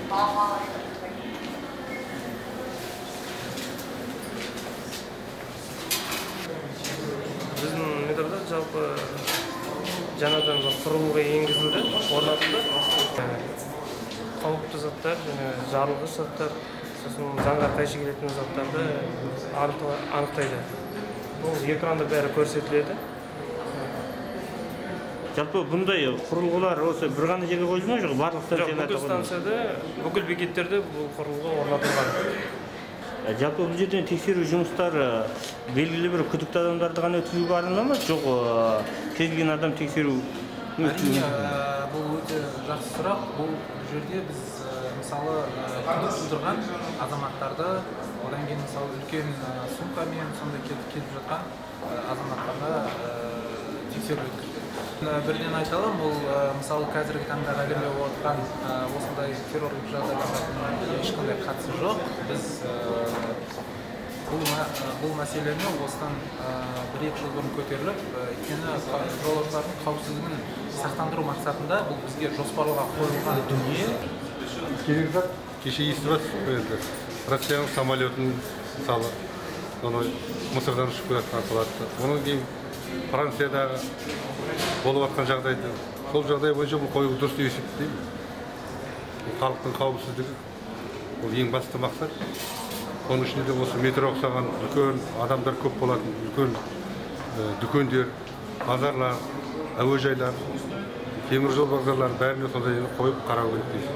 Биздин метрде жалпы жанадан курулга энгизилди, орнотулду. Кооптуу заттар жана жарылгыч заттар, сосын заңга кайшы келетін заттарды аныктайды. Бул экранда бәрі көрсөтүлөт. Жалпы мындай курулгулар осы бир гана жерге коюлган жок, барлык станцияларда? Бүкүл станцияда, бүкүл бекеттерде бул курулга орнотулган. Жалпы бул жерден текшерүү жумуштары белгилүү бир күдүктүү адамдарды гана өткүзүүгө арналганбы, жок кез келген адам текшерүү? Бул өтө жакшы сурак. Бул жерде биз мисалы күдүк тудурган азаматтарды, одан кийин мисалы үлкен сумка менен сондай келип жаткан азаматтарга текшерүү өткөзөт. Бирден айталым, бул мисалы қазіргі таңда әгерлеп отырған осындай террорлық жағдайларға эч кандай катысы жок. Біз бұл мәселені осыдан 1-2 жыл бұрын көтеріліп, өйткені жолаушылардың қауіпсіздігін сақтандыру мақсатында бұл бізге жоспарларға қойылған дүние. Керек зат кеше естіп жатырсыз, Россияның самолетін мысалы, Мысырдан ұшып келатқан атылатты. Оның кейін Францияда болып жатқан жағдайды, сол жағдай бойынша бұл қою дұрыс деп есептеймін. Халықтың қауіпсіздігі бұл ең басты мақсат. Оның ішінде осы метро ұқсаған үлкен адамдар көп болатын үлкен дүкендер, базарлар, әуежайлар, темір жол вокзалдарын бәріне сондай қойып қарау керек дейсіз.